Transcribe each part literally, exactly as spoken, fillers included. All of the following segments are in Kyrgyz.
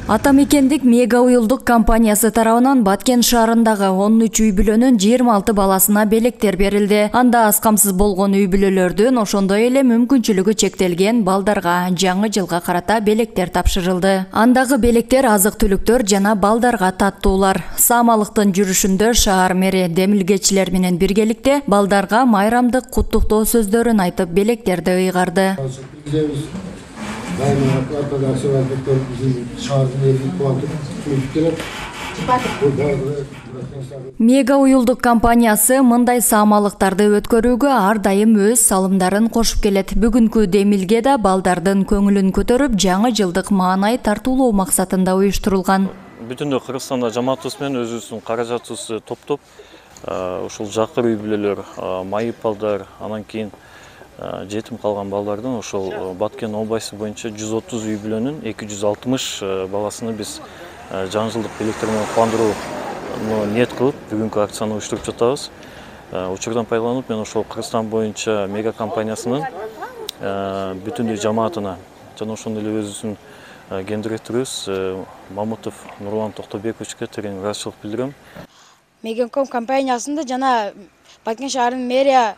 Атамекендик Мега уюлдук компаниясы тарабынан Баткен шаарындагы он үч үй бүлөнүн жыйырма алты баласына белектер берилди. Анда аз камсыз болгон үй бүлөлөрдүн, ошондой эле мүмкүнчүлүгү чектелген балдарга жаңы жылга карата белектер тапшырылды. Андагы белектер азык-түлүктөр жана балдарга таттуулар. Саамалыктын жүрүшүндө шаар мэри демилгечилер менен биргеликте балдарга майрамдык куттуктоо сөздөрүн айтып белектерди ыйгарды. Мега уюлдук компаниясы мындай саамалыктарды өткөрүүгө ар дайым өз салымдарын кошуп келет. Бүгүнкү демилге да балдардын көңүлүн көтөрүп, жаңы жылдык маанай тартуулоо максатында уюштурулган. Бүтүндөй Кыргызстанда жамаатыбыз менен өзүбүздүн каражатыбызды топтоп, ушул жакыр үй бүлөлөр, майып балдар, анан кийин жетим калган балдардын ошол Баткен областы боюнча жүз отуз үй бүлөнүн эки жүз алтымыш баласыны биз жаңы жылдык белектер менен кубандырууну ниет кылып бүгүнкү акцияны уюштуруп жатабыз. Учурдан пайдаланып, мен ошол Кыргызстан боюнча Мега компаниясынын бүтүндөй жамаатына жана ошондой эле өзүбүздүн ген директорубуз Мамутов Нурлан Токтобековичке терең ыраазычылык билдирем. Мега компаниясында жана Баткен шаарынын мэрия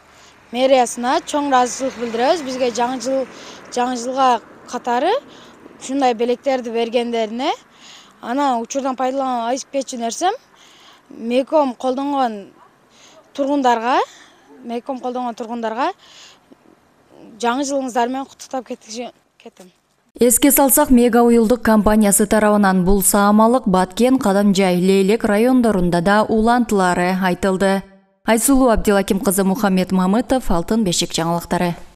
мэриясына чоң ыраазычылык билдиребиз. Бизге жаңы жыл жаңы жылга катары ушундай белектерди бергендерине. Анан учурдан пайдаланып айтып кетчү нерсем, Мегаком колдонгон тургундарга, Мегаком колдонгон тургундарга жаңы жылыңыздар менен куттуктап кетем. Эске салсак, Мега уюлдук компаниясы тарабынан бул саамалык Баткен, Кадамжай, Лейлек райондорунда да улантылары айтылды. Айсулуу Абдилаким кызы Мухаммед Мамытов, Алтын бешик жаңылыктары.